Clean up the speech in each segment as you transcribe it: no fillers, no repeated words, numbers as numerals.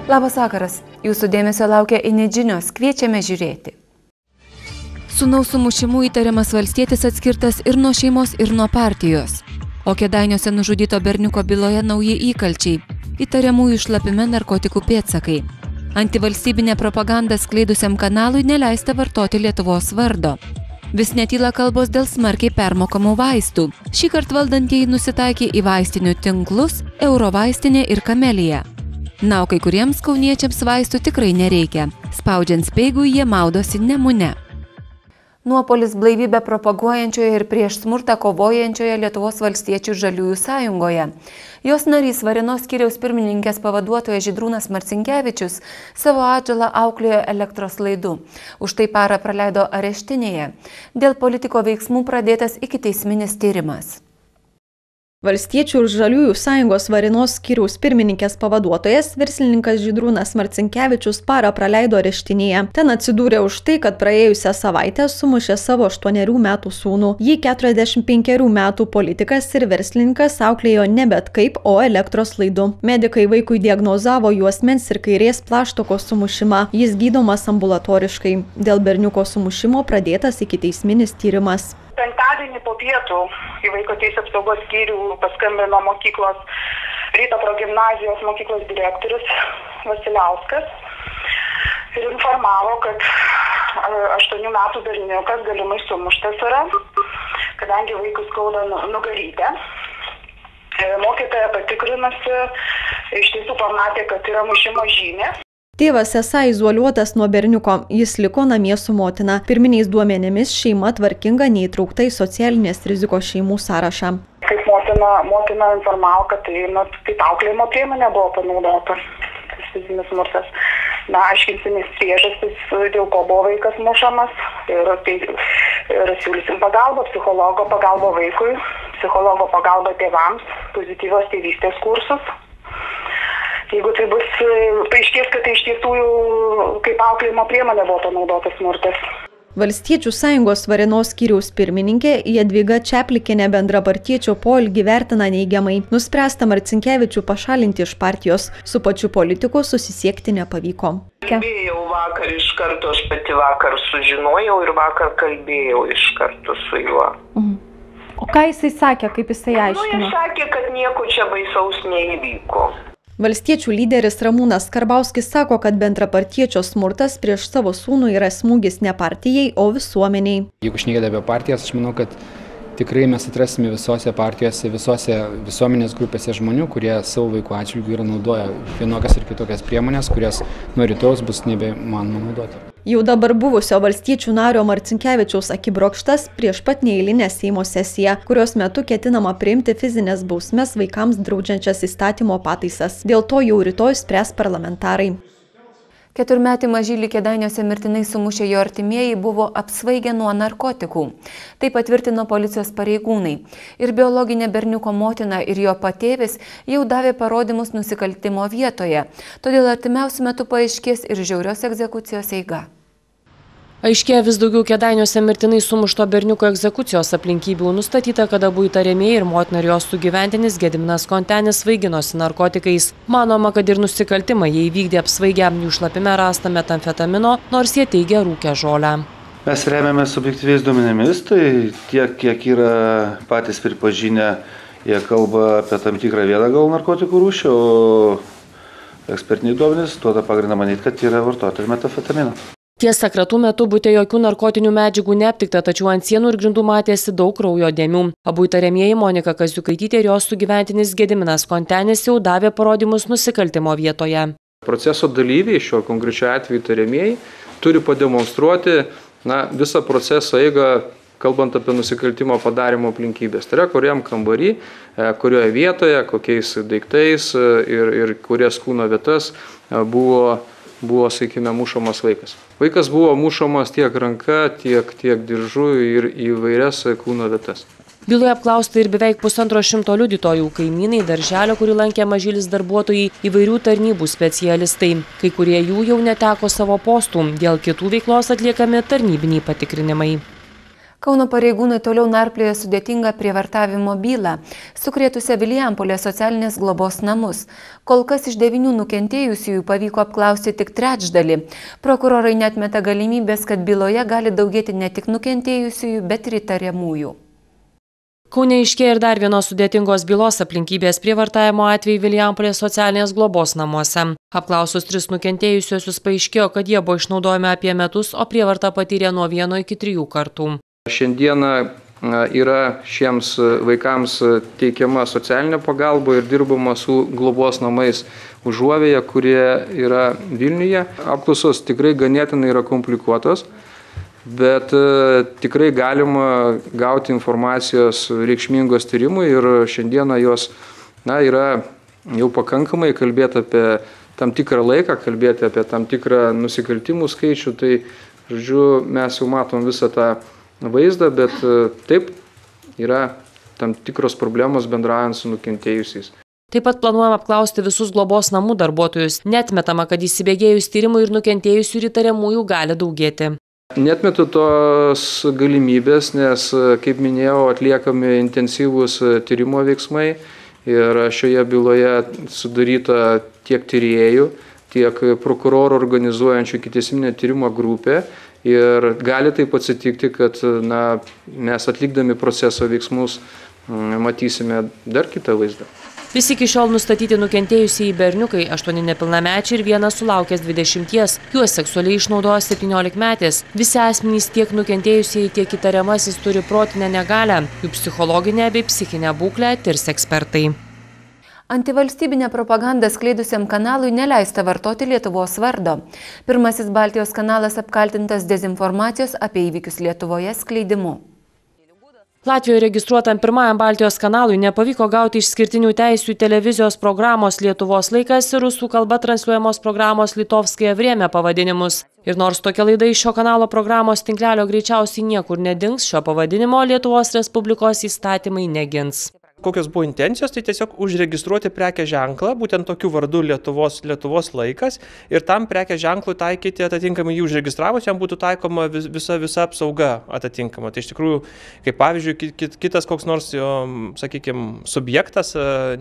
Labas vakaras, jūsų dėmesio laukia INET žinios, kviečiame žiūrėti. Sūnaus sumušimu įtariamas valstietis atskirtas ir nuo šeimos, ir nuo partijos. O Kėdainiuose nužudyto berniuko byloje nauji įkalčiai, įtariamųjų šlapime narkotikų pėdsakai. Antivalstybinė propaganda skleidusiam kanalui neleista vartoti Lietuvos vardo. Vis netyla kalbos dėl smarkiai permokamų vaistų. Šįkart valdantieji nusitaikė į vaistinių tinklus, Eurovaistinė ir Kamelija. Na, o kai kuriems kauniečiams vaistų tikrai nereikia. Spaudžiant speigui jie maudosi Nemune. Nuopolis blaivybę propaguojančioje ir prieš smurtą kovojančioje Lietuvos valstiečių žaliųjų sąjungoje. Jos narys Varėnos skyriaus pirmininkės pavaduotojas Žydrūnas Marcinkevičius savo atžalą auklėjo elektros laidu. Už tai parą praleido areštinėje. Dėl politiko veiksmų pradėtas ikiteisminis tyrimas. Valstiečių ir žaliųjų sąjungos Varėnos skyriaus pirmininkės pavaduotojas, verslininkas Žydrūnas Marcinkevičius parą praleido areštinėje. Ten atsidūrė už tai, kad praėjusią savaitę sumušė savo 8 metų sūnų. Jį 45 metų politikas ir verslininkas auklėjo ne bet kaip, o elektros laidu. Medikai vaikui diagnozavo juosmens ir kairės plaštokos sumušimą. Jis gydomas ambulatoriškai. Dėl berniuko sumušimo pradėtas ikiteisminis tyrimas. Penktadienį po pietų į Vaiko teisių apsaugos skyrių paskambino mokyklos Ryto progimnazijos mokyklos direktorius Vasiliauskas ir informavo, kad 8 metų berniukas galimai sumuštas yra, kadangi vaikui skauda nugarytę. Mokytoja patikrinusi iš tiesų pamatė, kad yra mušimo žymė. Tėvas esą izoliuotas nuo berniuko, jis liko namie su motina. Pirminiais duomenimis šeima tvarkinga neįtraukta į socialinės rizikos šeimų sąrašą. Kaip motina informavo, kad tai kaip auklėjimo priemonė buvo panaudota fizinis smurtas. Aiškinsimės priežastis, dėl ko buvo vaikas mušamas ir siūlysim pagalbą, psichologo pagalbą vaikui, psichologo pagalbą tėvams, pozityvios tėvystės kursus. Jeigu tai bus paaiškės, kad tai iš tiesų kaip auklėjimo priemonė buvo panaudotas smurtas. Valstiečių sąjungos Varėnos skyriaus pirmininkė Jadvyga Čeplikienė bendrapartiečio poelgį vertina neigiamai. Nuspręsta Marcinkevičių pašalinti iš partijos. Su pačiu politiku susisiekti nepavyko. Kalbėjau vakar iš karto, aš pati vakar sužinojau ir vakar kalbėjau iš karto su juo. O ką jisai sakė, kaip jisai aiškino? Jis sakė, kad nieko čia baisaus neįvyko. Valstiečių lyderis Ramūnas Karbauskis sako, kad bendrapartiečio smurtas prieš savo sūnų yra smūgis ne partijai, o visuomeniai. Jeigu šnekėti apie partijas, aš manau, kad tikrai mes atrasime visose partijose, visose visuomenės grupėse žmonių, kurie savo vaikų atžvilgiu yra naudoja vienokias ir kitokias priemonės, kurias nuo rytojaus bus nebeįmanoma naudoti. Jau dabar buvusio valstiečių nario Marcinkevičiaus akibrokštas prieš pat neeilinę Seimo sesiją, kurios metu ketinama priimti fizinės bausmes vaikams draudžiančias įstatymo pataisas. Dėl to jau rytoj spręs parlamentarai. 4-metį mažylį Kėdainiuose mirtinai sumušę jo artimieji buvo apsvaigę nuo narkotikų. Tai patvirtino policijos pareigūnai. Ir biologinė berniuko motina ir jo patėvis jau davė parodymus nusikaltimo vietoje. Todėl artimiausiu metu paaiškės ir žiaurios egzekucijos eiga. Aiškėja vis daugiau Kėdainiuose mirtinai sumušto berniuko egzekucijos aplinkybių. Nustatyta, kad abu įtariamieji ir motina ir jos sugyventinis Gediminas Kontenis svaiginosi narkotikais. Manoma, kad ir nusikaltimą jie įvykdė apsvaigę. Jų šlapime rasta metamfetamino, nors jie teigia rūkę žolę. Mes remiamės subjektyviais duomenimis, tai tiek, kiek yra patys pripažinę, jie kalba apie tam tikrą vieną gal narkotikų rūšį, o ekspertiniai duomenys duoda pagrindą manyti, kad yra vartoti metamfetamino. Tiesa, kratų metu bute jokių narkotinių medžiagų neaptikta, tačiau ant sienų ir grindų matėsi daug kraujo dėmių. Abu įtariamieji Monika Kaziukaitytė ir jos sugyventinis Gediminas Kontenis jau davė parodymus nusikaltimo vietoje. Proceso dalyviai, šiuo konkrečiu atveju įtariamieji, turi pademonstruoti visą proceso eigą, kalbant apie nusikaltimo padarimo aplinkybės. Tai yra, kuriam kambarį, kurioje vietoje, kokiais daiktais ir kurias kūno vietas buvo, sakykime, mušamas vaikas. Vaikas buvo mušamas tiek ranka, tiek diržu ir įvairias kūno vietas. Byloje apklausta ir beveik 150 liudytojų, kaimynai, darželio, kurį lankė mažylis darbuotojai, įvairių tarnybų specialistai. Kai kurie jų jau neteko savo postų, dėl kitų veiklos atliekami tarnybiniai patikrinimai. Kauno pareigūnai toliau narplioja sudėtingą prievartavimo bylą, sukrėtusią Vilijampolės socialinės globos namus. Kol kas iš 9 nukentėjusiųjų pavyko apklausti tik trečdalį. Prokurorai neatmeta galimybės, kad byloje gali daugėti ne tik nukentėjusiųjų, bet ir įtariamųjų. Kaune aiškėja ir dar vienos sudėtingos bylos aplinkybės prievartavimo atvejai Vilijampolės socialinės globos namuose. Apklausus 3 nukentėjusiuosius paaiškėjo, kad jie buvo išnaudojami apie metus, o prievartą patyrė nuo 1 iki 3 kartų. Šiandieną yra šiems vaikams teikiama socialinė pagalba ir dirbama su globos namais Užuovėje, kurie yra Vilniuje. Apklausos tikrai ganėtinai yra komplikuotos, bet tikrai galima gauti informacijos reikšmingos tyrimui ir šiandieną jos yra jau pakankamai kalbėti apie tam tikrą laiką, kalbėti apie tam tikrą nusikaltimų skaičių. Tai, žodžiu, mes jau matom visą tą vaizdą, bet taip yra tam tikros problemos bendraujant su nukentėjusiais. Taip pat planuojama apklausti visus globos namų darbuotojus. Neatmetama, kad įsibėgėjus tyrimų ir nukentėjusių ir įtariamųjų gali daugėti. Neatmetu tos galimybės, nes, kaip minėjau, atliekami intensyvūs tyrimo veiksmai ir šioje byloje sudaryta tiek tyrėjų, tiek prokurorų organizuojančių ikiteisminio tyrimo grupė. Ir gali taip atsitikti, kad mes atlikdami proceso veiksmus matysime dar kitą vaizdą. Visi iki šiol nustatyti nukentėjusieji berniukai, 8 nepilnamečiai ir 1 sulaukęs 20, juos seksualiai išnaudojo 17-metis. Visi asmenys tiek nukentėjusieji, tiek įtariamasis turi protinę negalią, jų psichologinę bei psichinę būklę tirs ekspertai. Antivalstybinę propagandą skleidusiam kanalui neleista vartoti Lietuvos vardo. Pirmasis Baltijos kanalas apkaltintas dezinformacijos apie įvykius Lietuvoje skleidimu. Latvijoje registruotam pirmajam Baltijos kanalui nepavyko gauti išskirtinių teisių televizijos programos Lietuvos laikas ir rusų kalba transliuojamos programos Litovskaja Vremia pavadinimus. Ir nors tokia laida iš šio kanalo programos tinklelio greičiausiai niekur nedings, šio pavadinimo Lietuvos Respublikos įstatymai negins. Kokios buvo intencijos, tai tiesiog užregistruoti prekės ženklą, būtent tokiu vardu Lietuvos laikas, ir tam prekės ženklui taikyti atitinkamai jį užregistravus, jam būtų taikoma visa apsauga atitinkama. Tai iš tikrųjų, kaip pavyzdžiui, kitas koks nors, sakykime, subjektas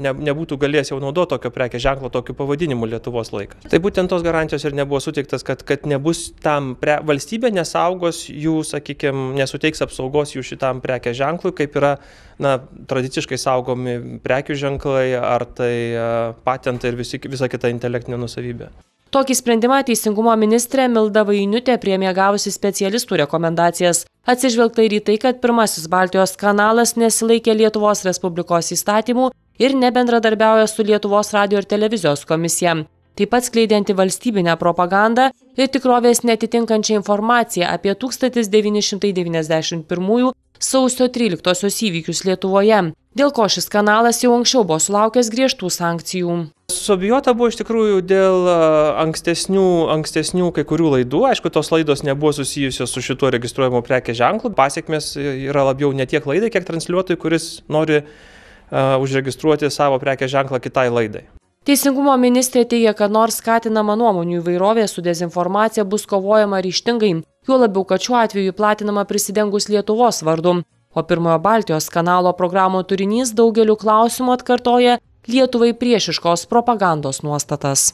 nebūtų galėjęs jau naudoti tokio prekės ženklo tokiu pavadinimu Lietuvos laikas. Tai būtent tos garantijos ir nebuvo suteiktas, kad nebus tam valstybė nesaugos jų, sakykime, nesuteiks apsaugos jų šitam prekės ženklui, kaip yra tradiciškai saugomi prekių ženklai, ar tai patentai ir visa kita intelektinė nusavybė. Tokį sprendimą Teisingumo ministrė Milda Vainiutė priėmė gavusi specialistų rekomendacijas. Atsižvelgta ir į tai, kad pirmasis Baltijos kanalas nesilaikė Lietuvos Respublikos įstatymų ir nebendradarbiauja su Lietuvos radijo ir televizijos komisija. Taip pat skleidė antivalstybinę propagandą ir tikrovės netitinkančią informaciją apie 1991 sausio 13-osios įvykius Lietuvoje, dėl ko šis kanalas jau anksčiau buvo sulaukęs griežtų sankcijų. Suabejota buvo iš tikrųjų dėl ankstesnių kai kurių laidų. Aišku, tos laidos nebuvo susijusios su šituo registruojamu prekės ženklu. Pasekmės yra labiau ne tiek laidai, kiek transliuotojui, kuris nori užregistruoti savo prekės ženklą kitai laidai. Teisingumo ministrė teigia, kad nors skatinama nuomonių įvairovė, su dezinformacija bus kovojama ryžtingai, juo labiau, kad šiuo atveju platinama prisidengus Lietuvos vardu. O pirmojo Baltijos kanalo programų turinys daugeliu klausimų atkartoja Lietuvai priešiškos propagandos nuostatas.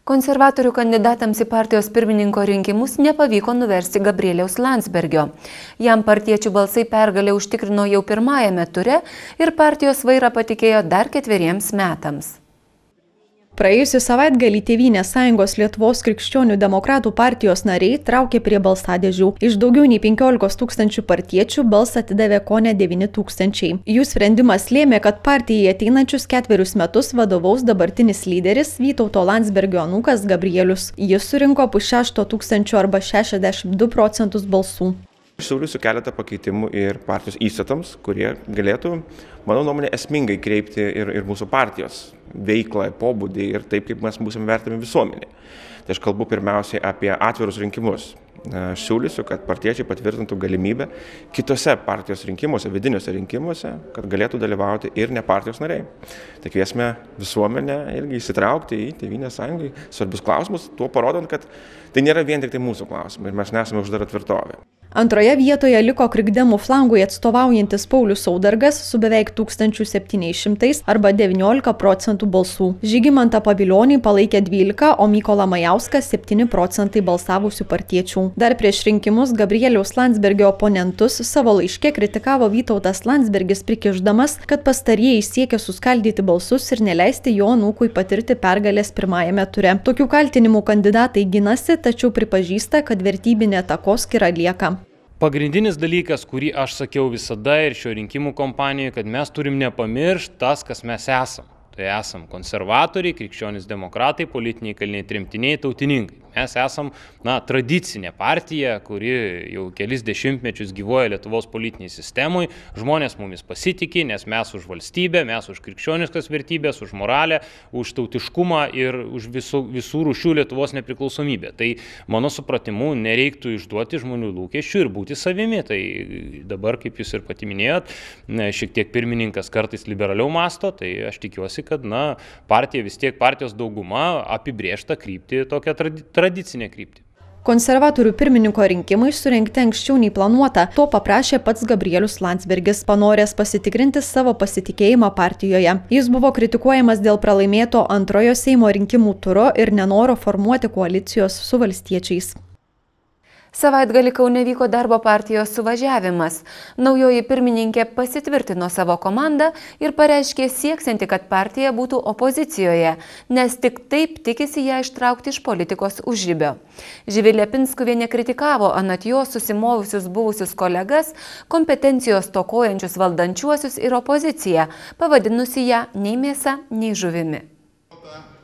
Konservatorių kandidatams į partijos pirmininko rinkimus nepavyko nuversti Gabrieliaus Landsbergio. Jam partiečių balsai pergalę užtikrino jau pirmajame ture ir partijos vairą patikėjo dar 4 metams. Praėjusį savaitgalį Tėvynės sąjungos Lietuvos krikščionių demokratų partijos nariai traukė prie balsadėžių. Iš daugiau nei 15 000 partiečių balsą atidavė kone 9 000. Jų sprendimas lėmė, kad partijai ateinančius 4 metus vadovaus dabartinis lyderis Vytauto Landsbergio anūkas Gabrielius. Jis surinko 500 arba 62% balsų. Siūlysiu keletą pakeitimų ir partijos įstatams, kurie galėtų, mano nuomonė, esmingai kreipti ir mūsų partijos veiklą, pobūdį ir taip, kaip mes būsime vertami visuomenė. Tai aš kalbu pirmiausiai apie atvirus rinkimus. Aš siūlysiu, kad partiečiai patvirtintų galimybę kitose partijos rinkimuose, vidiniuose rinkimuose, kad galėtų dalyvauti ir ne partijos nariai. Tai kviesime visuomenę irgi įsitraukti į Tėvynės sąjungai svarbius klausimus, tuo parodant, kad tai nėra vien tik tai mūsų klausimai ir mes nesame uždara tvirtovė. Antroje vietoje liko krikdemų flangui atstovaujantis Paulius Saudargas su beveik 1700 arba 19% balsų. Žygimantą Pavilionį palaikė 12, o Mykolą Majauską 7% balsavusių partiečių. Dar prieš rinkimus Gabrieliaus Landsbergio oponentus savo laiške kritikavo Vytautas Landsbergis, prikišdamas, kad pastarieji siekia suskaldyti balsus ir neleisti jo anūkui patirti pergalės pirmajame ture. Tokių kaltinimų kandidatai ginasi, tačiau pripažįsta, kad vertybinė takoskyra lieka. Pagrindinis dalykas, kurį aš sakiau visada ir šio rinkimų kompanijoje, kad mes turim nepamiršti tas, kas mes esam. Tai esam konservatoriai, krikščionys demokratai, politiniai kaliniai, tremtiniai, tautininkai. Mes esam, tradicinė partija, kuri jau kelis dešimtmečius gyvuoja Lietuvos politiniai sistemui. Žmonės mumis pasitikė, nes mes už valstybę, mes už krikščioniškas vertybės, už moralę, už tautiškumą ir už visų rūšių Lietuvos nepriklausomybę. Tai mano supratimu nereiktų išduoti žmonių lūkesčių ir būti savimi. Tai dabar, kaip jūs ir pati minėjot, šiek tiek pirmininkas kartais liberaliau masto, tai aš tikiuosi, kad partija vis tiek partijos dauguma apibrėžta kryptį, tokią tradicinę kryptį. Konservatorių pirmininko rinkimai surengti anksčiau nei planuota. To paprašė pats Gabrielius Landsbergis, panoręs pasitikrinti savo pasitikėjimą partijoje. Jis buvo kritikuojamas dėl pralaimėto antrojo Seimo rinkimų turo ir nenoro formuoti koalicijos su valstiečiais. Savaitgalį Kaune vyko darbo partijos suvažiavimas. Naujoji pirmininkė pasitvirtino savo komandą ir pareiškė sieksianti, kad partija būtų opozicijoje, nes tik taip tikisi ją ištraukti iš politikos užribio. Živilė Pinskuvienė kritikavo anot jo susimovusius buvusius kolegas, kompetencijos stokojančius valdančiuosius ir opoziciją, pavadinusi ją nei mėsa, nei žuvimi.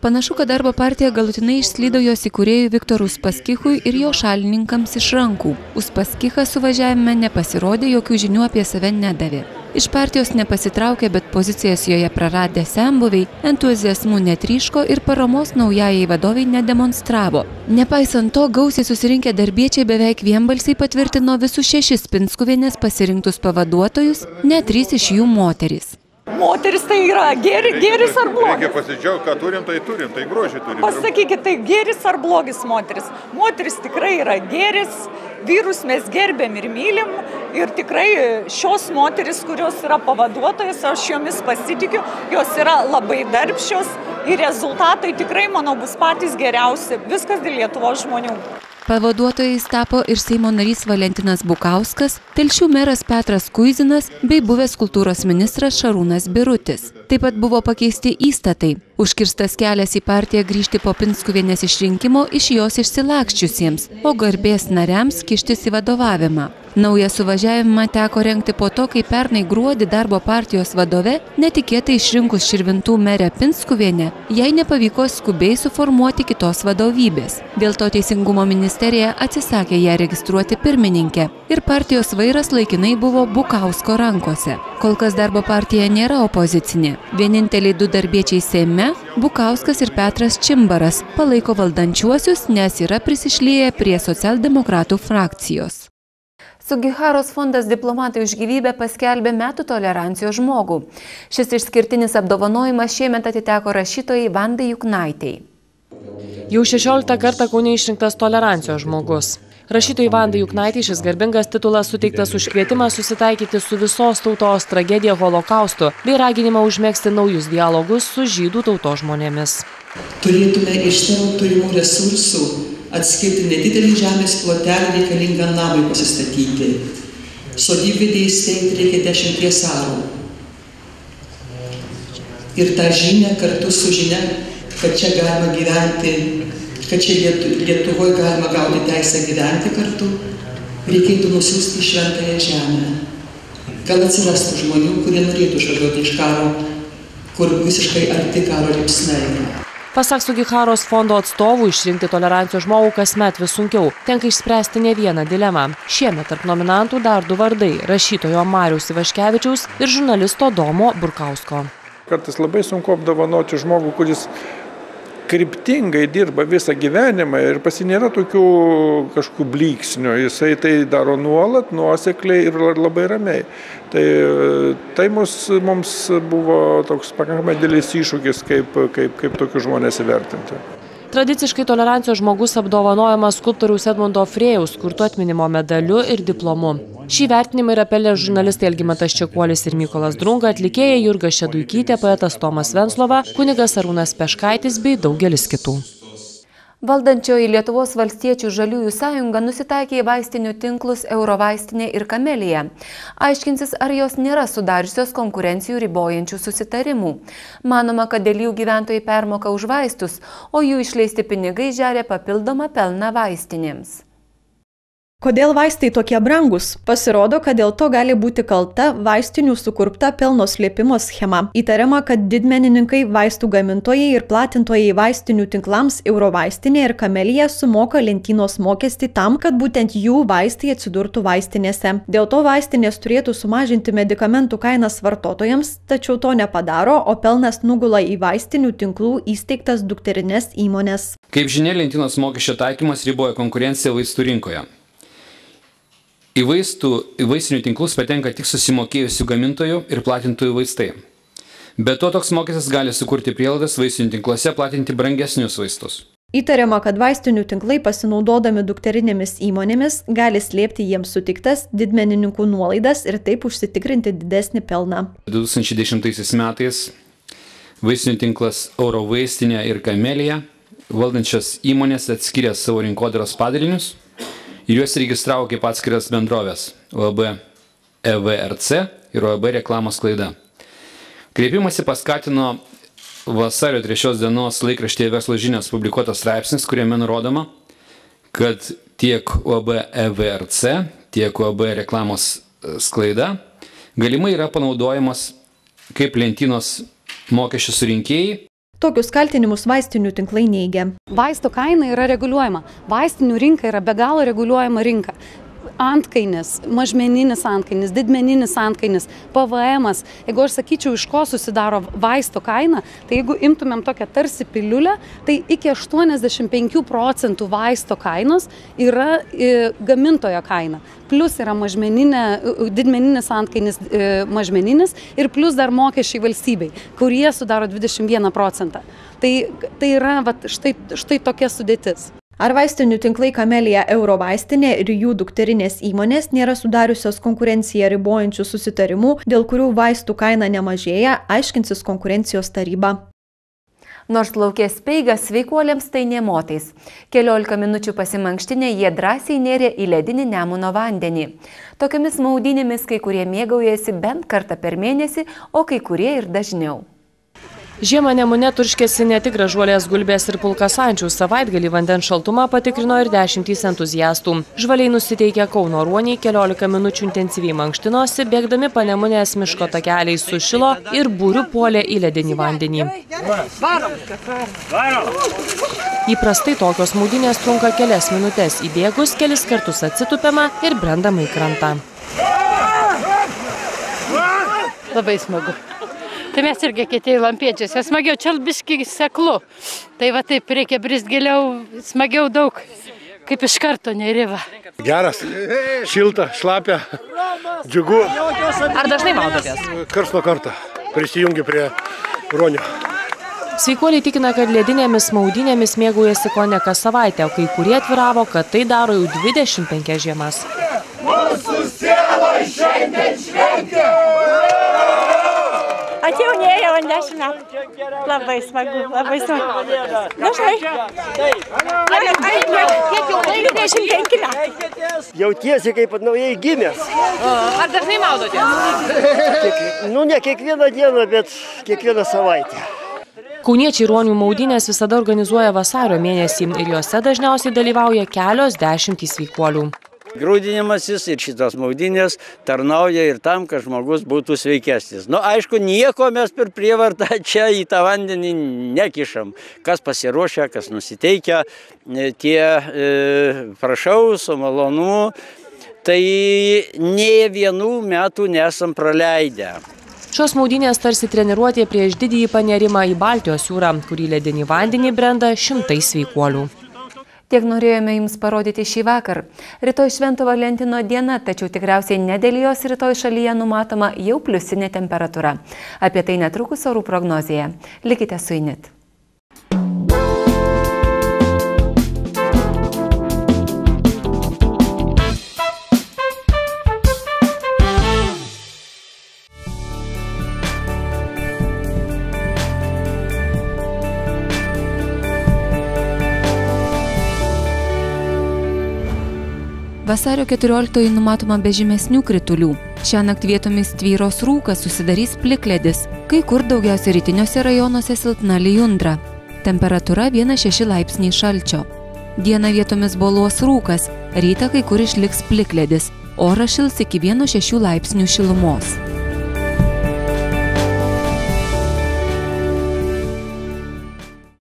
Panašu, kad darbo partija galutinai išslydo jos įkūrėjui Viktorui Uspaskichui ir jo šalininkams iš rankų. Uspaskichas suvažiavime nepasirodė, jokių žinių apie save nedavė. Iš partijos nepasitraukė, bet pozicijas joje praradę senbuviai, entuziazmų netryško ir paramos naujajai vadoviai nedemonstravo. Nepaisant to, gausiai susirinkę darbiečiai beveik vienbalsiai patvirtino visus 6 Pinskuvienės pasirinktus pavaduotojus, net 3 iš jų moterys. Moteris tai yra gėris ar blogis? Reikia pasidžiaugti, ką turim, tai grožį turim. Pasakykit, tai gėris ar blogis moteris? Moteris tikrai yra gėris, vyrus mes gerbėm ir mylim ir tikrai šios moteris, kurios yra pavaduotojas, aš jomis pasitikiu, jos yra labai darbščios ir rezultatai tikrai, manau, bus patys geriausi. Viskas dėl Lietuvos žmonių. Pavaduotojais tapo ir Seimo narys Valentinas Bukauskas, Telšių meras Petras Kuizinas bei buvęs kultūros ministras Šarūnas Birutis. Taip pat buvo pakeisti įstatai. Užkirstas kelias į partiją grįžti po Pinskuvienės išrinkimo iš jos išsilakščiusiems, o garbės nariams kištis į vadovavimą. Naują suvažiavimą teko rengti po to, kai pernai gruodį darbo partijos vadove netikėtai išrinkus Širvintų merę Pinskuvienę, jai nepavyko skubiai suformuoti kitos vadovybės. Dėl to Teisingumo ministerija atsisakė ją registruoti pirmininkę ir partijos vairas laikinai buvo Bukausko rankose. Kol kas darbo partija nėra opozicinė. Vieninteliai 2 darbiečiai Seime, Bukauskas ir Petras Čimbaras, palaiko valdančiuosius, nes yra prisišlieję prie socialdemokratų frakcijos. Sugiharos fondas Diplomatai už gyvybę paskelbė metų tolerancijos žmogų. Šis išskirtinis apdovanojimas šiemet atiteko rašytojai Vandai Juknaitei. Jau 16 kartą Kaune išrinktas tolerancijos žmogus. Rašytojai Vandai Juknaitei šis garbingas titulas suteiktas už kvietimą susitaikyti su visos tautos tragedija Holokaustu bei raginimą užmegzti naujus dialogus su žydų tautos žmonėmis. Turėtume iš savo turimų resursų atskirti nedidelį žemės plotelį reikalingą namui pasistatyti. Sodybvietę įsteigti reikia 10 arų. Ir tą žinią kartu su žinia, kad čia galima gyventi, kad čia Lietuvoje galima gauti teisę gyventi kartu, reikėtų nusiųsti į šventąją žemę. Gal atsirastų žmonių, kurie norėtų išvažiuoti iš karo, kur visiškai arti karo liepsnai. Pasak Sugiharos fondo atstovų, išrinkti tolerancijos žmogų kasmet vis sunkiau. Tenka išspręsti ne vieną dilemą. Šiemet tarp nominantų dar 2 vardai – rašytojo Mariaus Ivaškevičiaus ir žurnalisto Domo Burkausko. Kartais labai sunku apdovanoti žmogų, kuris kryptingai dirba visą gyvenimą ir pasinėra tokių kažkokių blyksnių. Jisai tai daro nuolat, nuosekliai ir labai ramiai. Tai mums buvo toks pakankamai didelis iššūkis, kaip tokius žmonės įvertinti. Tradiciškai tolerancijos žmogus apdovanojamas skulptoriaus Edmundo Frėjaus kurtu atminimo medaliu ir diplomu. Šį vertinimą yra pelnę žurnalistai Algimantas Čekuolis ir Mykolas Drunga, atlikėja Jurga Šeduikytė, poetas Tomas Venclova, kunigas Arūnas Peškaitis bei daugelis kitų. Valdančioji Lietuvos valstiečių žaliųjų sąjunga nusitaikė į vaistinių tinklus Eurovaistinė ir Kamelija. Aiškinsis, ar jos nėra sudariusios konkurencijų ribojančių susitarimų. Manoma, kad dėl jų gyventojai permoka už vaistus, o jų išleisti pinigai žeria papildomą pelną vaistinėms. Kodėl vaistai tokie brangus? Pasirodo, kad dėl to gali būti kalta vaistinių sukurpta pelno slėpimo schema. Įtariama, kad didmenininkai, vaistų gamintojai ir platintojai vaistinių tinklams Eurovaistinė ir Kamelija sumoka lentynos mokestį tam, kad būtent jų vaistai atsidurtų vaistinėse. Dėl to vaistinės turėtų sumažinti medikamentų kainas vartotojams, tačiau to nepadaro, o pelnas nugula į vaistinių tinklų įsteigtas dukterinės įmonės. Kaip žinia, lentynos mokesčio taikymas riboja konkurenciją vaistų rinkoje. Į vaistinių tinklus patenka tik susimokėjusių gamintojų ir platintojų vaistai. Be to, toks mokestis gali sukurti prielaidas vaistinių tinkluose platinti brangesnius vaistus. Įtariama, kad vaistinių tinklai pasinaudodami dukterinėmis įmonėmis gali slėpti jiems sutiktas didmenininkų nuolaidas ir taip užsitikrinti didesnį pelną. 2010 metais vaistinių tinklas Eurovaistinė ir Kamelija valdančios įmonės atskyrė savo rinkodaros padalinius ir juos registravo kaip atskiras bendrovės OAB EVRC ir OAB reklamos klaida. Kreipimąsi paskatino vasario 3 dienos laikraštyje Verslo žinios publikuotas straipsnis, kuriame nurodoma, kad tiek OAB EVRC, tiek OAB reklamos sklaida galimai yra panaudojamas kaip lentynos mokesčių surinkėjai. Tokius kaltinimus vaistinių tinklai neigia. Vaisto kaina yra reguliuojama. Vaistinių rinka yra be galo reguliuojama rinka. Antkainis, mažmeninis antkainis, didmeninis antkainis, PVM-as. Jeigu aš sakyčiau, iš ko susidaro vaisto kaina, tai jeigu imtumėm tokią tarsi piliulę, tai iki 85% vaisto kainos yra gamintojo kaina. Plus yra didmeninis antkainis mažmeninis ir plus dar mokesčiai valstybei, kurie sudaro 21%. Tai yra štai tokia sudėtis. Ar vaistinių tinklai Kamelija Eurovaistinė ir jų dukterinės įmonės nėra sudariusios konkurenciją ribojančių susitarimų, dėl kurių vaistų kaina nemažėja, aiškinsis konkurencijos taryba. Nors laukė speigas, sveikuoliams tai nė motais. 15 minučių pasimankštinę jie drąsiai nėrė į ledinį Nemuno vandenį. Tokiamis maudynėmis kai kurie mėgaujasi bent kartą per mėnesį, o kai kurie ir dažniau. Žiemą Nemune turškėsi ne tik Gražuolės Gulbės ir Pulkasančių, savaitgalį vandens šaltumą patikrino ir 10 entuziastų. Žvaliai nusiteikę Kauno ruoniai 15 minučių intensyviai mankštinosi, bėgdami Panemunės miško takeliais sušilo ir būriu puolė į ledinį vandenį. Įprastai tokios maudynės trunka kelias minutės, įbėgus kelis kartus atsitupiama ir brendama į krantą. Labai smagu. Tai mes irgi kiti lampiečiuose. Smagiau, čia biški seklu. Tai va taip reikia brist giliau, smagiau daug, kaip iš karto neįriva. Geras, šilta, šlapia, džiugu. Ar dažnai maudotės? Karts nuo karto prisijungi prie ruonio. Sveikuoliai tikina, kad ledinėmis maudynėmis mėgaujasi kone kas savaitę, o kai kurie atviravo, kad tai daro jau 25 žiemas. Mūsų siela šiandien šventė! Atjaunėjo 10 metų. Labai smagu, labai smagu. Dažnai. Kiek jau 25 metų. Jautiesi kaip naujai gimęs. Ar dažnai maudotės? Ne kiekvieną dieną, bet kiekvieną savaitę. Kauniečiai ruonių maudynės visada organizuoja vasario mėnesį ir juose dažniausiai dalyvauja kelios dešimtys sveikuolių. Grūdinimasis ir šitos maudynės tarnauja ir tam, kad žmogus būtų sveikesnis. Aišku, nieko mes per prievartą čia į tą vandenį nekišam. Kas pasiruošia, kas nusiteikia, tie prašau, su malonumu, tai nė vienų metų nesam praleidę. Šios maudynės tarsi treniruotė prieš didįjį panerimą į Baltijos jūrą, kurį ledinį vandenį brenda šimtai sveikuolių. Tiek norėjome jums parodyti šį vakar. Rytoj Švento Valentino diena, tačiau tikriausiai ne dėl jos rytoj šalyje numatoma jau pliusinė temperatūra. Apie tai netrukus orų prognozėje. Likite su INIT. Vasario 14 numatoma be žymesnių kritulių. Šiąnakt vietomis tvyros rūkas, susidarys plikledis, kai kur daugiausia rytiniuose rajonuose silpna lijundra. Temperatūra 1–6 laipsniai šalčio. Dieną vietomis boluos rūkas, rytą kai kur išliks plikledis, oras šils iki 1–6 laipsnių šilumos.